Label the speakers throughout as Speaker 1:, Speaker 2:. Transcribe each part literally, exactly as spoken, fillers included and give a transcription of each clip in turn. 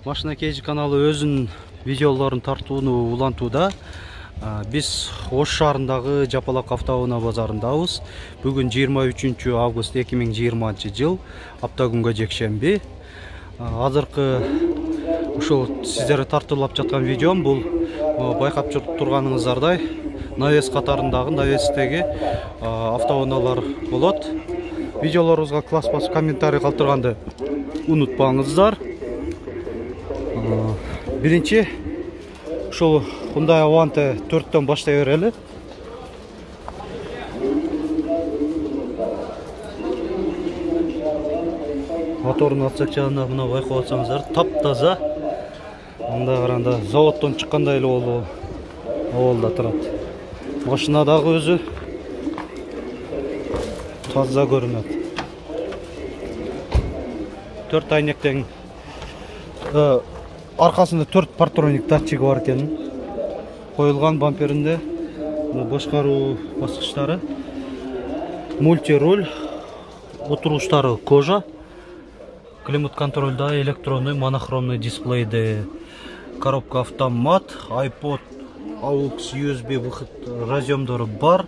Speaker 1: Машина Кейджи каналы өзүнүн видеолорун тартууну улантууда. Биз Ош шаарындагы Жапалак автоунаа базарындабыз. Бүгүн жыйырма үчүнчү август эки миң жыйырманчы жыл, апта күнгө жекшемби. Азыркы ушул сиздерге тартуулап жаткан видеом бул байкап турганыңыздардай навес катарындагы навестеги автоунаалар болот. Видеолорубузга класс басып комментарий калтырганды унутпаңыздар. Биринчи ушул Hyundai Avante төрттөн баштай берели. Моторун атсак жагында мына байкап атсаңыздар, таптаза. Мында караганда заводдон чыккандай эле болду. Абалда турат. Машина дагы өзү таза көрүнөт. Төрт айнектен аркасында төрт партроник датчиги бар экен. Коюлган бамперинде башкаруу баскычтары, мультируль, отургучтары кожа, климат контролда электронный монохромный дисплейде, коробка автомат, iPod, aux ю эс би выход разъемдору бар,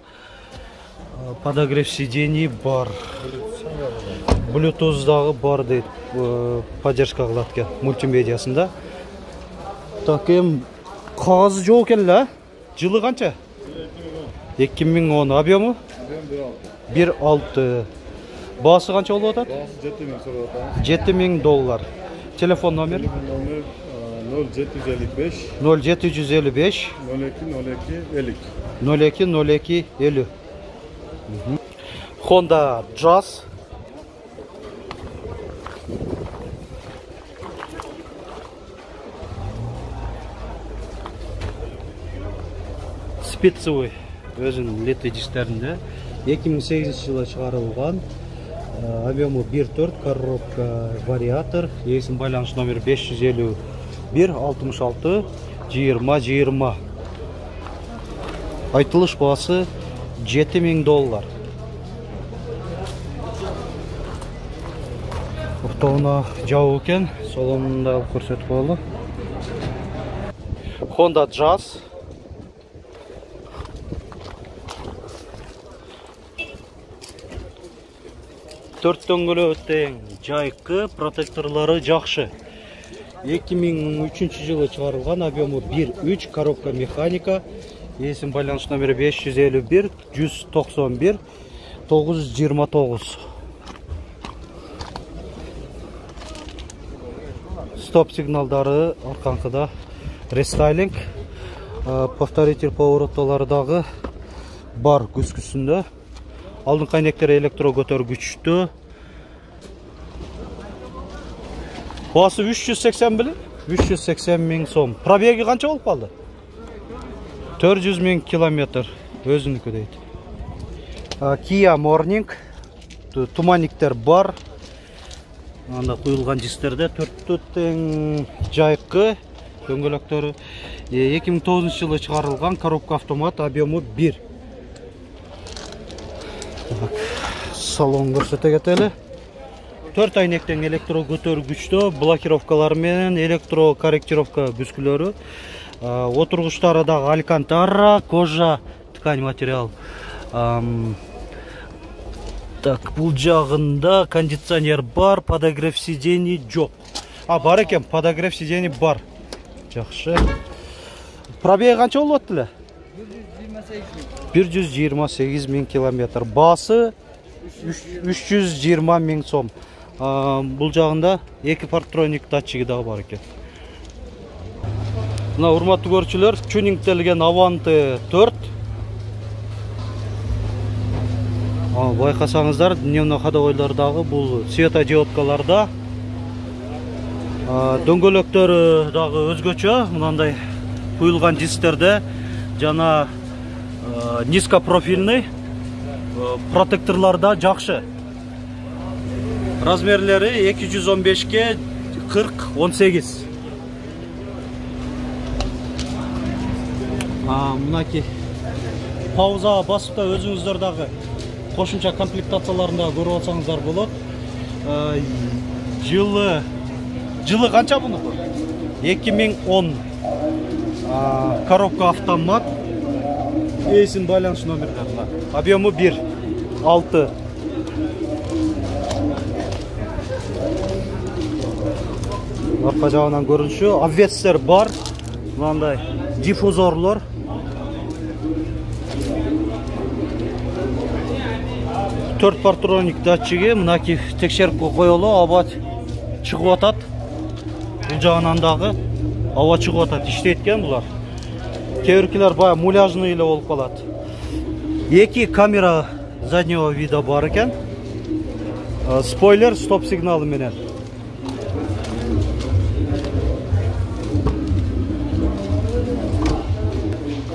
Speaker 1: подогрев сидений бар, Bluetooth дагы бар дейт, поддержка кылат экен мультимедиасында. Так, эм кагазы жок экен эле. Жылы канча? эки миң он. Объему? бир алты. Баасы канча болуп атат? Баасы жети миң сорап атат. жети миң доллар. Телефон номер? Номер ноль жети жүз элүү беш. ноль жети жүз элүү беш. ноль эки ноль эки элүү. ноль эки ноль эки элүү. Honda Jazz. Спецовый өзүнүн леттой дистеринде эки миң сегизинчи жылы чыгарылган. Объему бир төрт, коробка вариатор, эсим байланыш номер беш жүз элүү бир алтымыш алты жыйырма жыйырма. Айтылыш баасы жети миң доллар. Автоунаа жабык экен, солонунда көрсөтүп коелу. Honda Jazz. төрт дөңгөлөк тең, жайкы, протекторлары жакшы. эки миң үчүнчү жылы чыгарылган, объему бир үч, коробка механика, эсим байланыш номери беш жүз элүү бир жүз токсон бир тогуз жүз жыйырма тогуз. Стоп сигналдары арканкыда рестайлинг, повторитель повороттолору дагы бар күскүсүндө. Алдыңкы айнектери электро көтөргүчтүү. Баасы үч жүз сексен беле? үч жүз сексен миң сом. Пробеги канча болуп калды? төрт жүз миң километр. Өзүнүкү дейт. Kia Morning. Туманниктер бар. Анда куюлган дистерде төрттө тең жайкы дөңгөлөктөрү. эки миң тогузунчу жылы чыгарылган, коробка автомат, объему бир. Салон көрсөтө кетели. төрт айнектен электро көтөргүчтө, блокировкалары менен электро корректировка бүскүлөрү. Отургучтары дагы алькантара, кожа, ткань материал. Так, бул жагында кондиционер бар, подогрев сидений жок. А, бар экен, подогрев сидений бар. Жакшы. Пробеги канча болуп атты эле? бир жүз жыйырма сегиз миң километр. Баасы үч жүз жыйырма миң сом. Бул жагында эки партроник датчиги дагы бар экен. Мына урматтуу көрүүчүлөр, тюнингтелген Avante төрт. Байкасаңыздар, дневной ходовойлордагы бул светодиодкаларда. Дөңгөлөктөрү дагы өзгөчө, мындай куюлган дистерде жана низкопрофильный, протекторларда жакшы. Размерлери эки жүз он бешке кырк он сегиз. Мынаки пауза басып та өзүңүздөр дагы кошумча комплектацияларында көрүп алсаңыздар болот. Жылы жылы канча буну? эки миң он коробка автомат, эсин байланыш номерлерine. Объему бир алты. Арка жагынан көрүнүшү, обвестер бар. Мындай диффузорлор. төрт партроник датчиги, мынаки текшерип коелу, аба чыгып атат. Бул жагынан дагы аба чыгып атат, иштейт экен булар. Кээ-биркилер бая муляжный эле болуп калат. Эки камера заднего вида бар экен. Спойлер, стоп сигналы менен.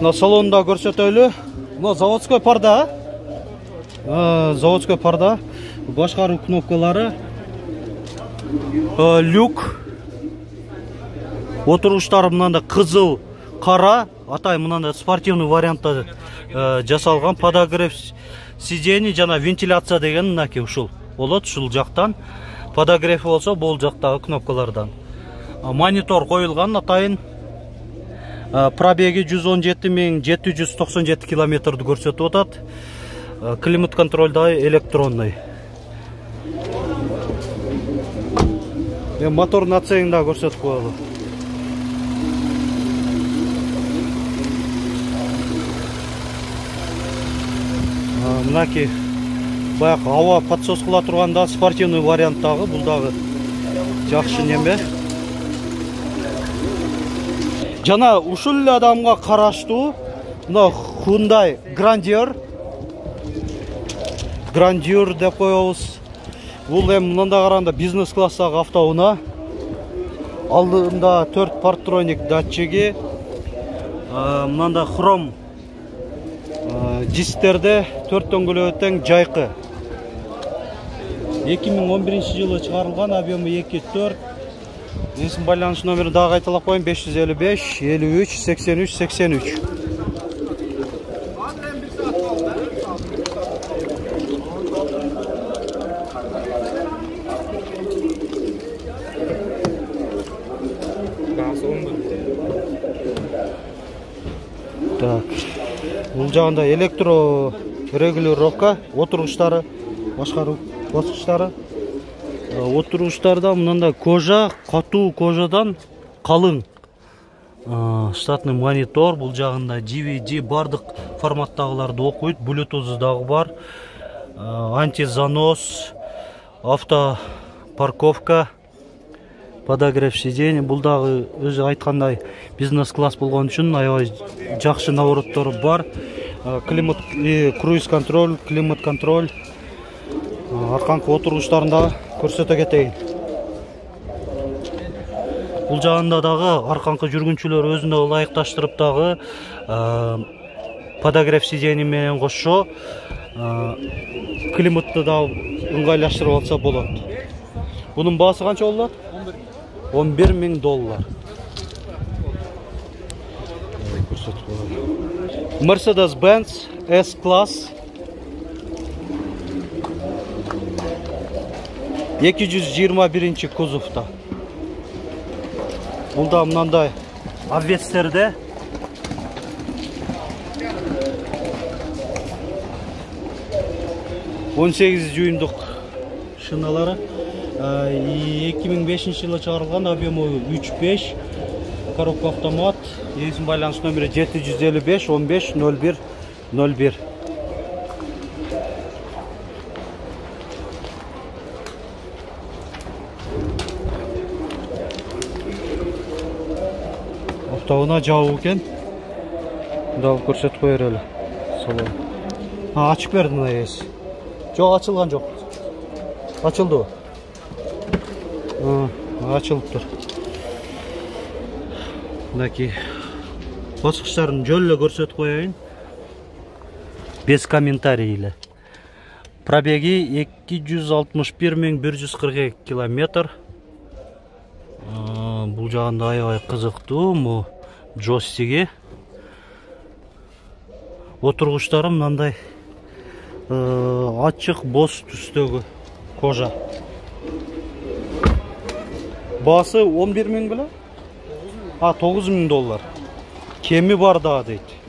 Speaker 1: На салонда көрсөтөлү. Мына заводской парда. Заводской парда. Башкаруу кнопкалары. Люк. Отуруштары мындай кызыл, кара, атай мындай спортивный вариантта жасалган. Подогрев сидений жана вентиляция деген мынаки ушул болот, ушул жактан. Подогрев болсо бул жактагы кнопкалардан. Монитор коюлган, атайын пробеги жүз он жети миң жети жүз токсон жети километрди көрсөтүп атат. Климат контролда электронный. Мотор нацегин да көрсөтүп коелу. Мынаки баягы аба подсос кыла турганда спортивный варианттагы, бул дагы жакшы неме. Жана ушул эле адамга караштуу мына Hyundai Grandeur. Grandeur деп коебуз. Бул эми мындай караганда бизнес класстагы автоунаа. Алдында төрт партроник датчиги. Мындай хром дисктерде төрт дөңгөлөгү тең жайкы. эки миң он биринчи жылы чыгарылган, объему эки төрт. Эсин байланыш номерин дагы кайталап коеюн: беш жүз элүү беш элүү үч сексен үч сексен үч. Так. Бул жагында электро регулировка, отургучтары, башкаруу баскычтары. Отургучтарда мындай кожа, катуу кожадан калың. Штатный монитор, бул жагында ди ви ди бардык форматтагыларды окуйт, Bluetooth дагы бар. Антизанос, авто парковка, подогрев сидений. Бул дагы өзү айткандай бизнес класс болгон үчүн аябай жакшы навороттор бар. Климат, круиз контроль, климат контроль. Арканкы отургучтарында көрсөтө кетейин. Бул жагында дагы арканкы жүргүнчүлөр өзүнө ылайыкташтырып дагы подогрев сидений менен кошо климатты да ыңгайлаштырып алса болот. Бунун баасы канча болот? он бир миң доллар. Mercedes-Benz S-Class эки жүз жыйырма биринчи кузовда. Бул да мындай обвестерде. он сегиз жуюндук шиналары. эки миң бешинчи жылы чыгарылган, объему үч беш. Коробка автомат. Эсин байланыш номери жети жүз элүү беш он беш ноль бир ноль бир. Автоунаа жабуу экен. Дагы көрсөтүп коер эле. Салон. А, ачып бердим мына эс. Жок, ачылган жок. Ачылды. А, ачылыптыр. Мынаки баскычтарын жөн эле көрсөтүп коеюн. Без комментарий эле. Пробеги эки жүз алтымыш бир миң бир жүз кырк эки километр. Бул жагында аябай кызыктуу, му джойстиги. Отургучтары мындай ачык боз түстөгү кожа. Баасы он бир миң беле? А, тогуз миң доллар. Кеми бар да дейт.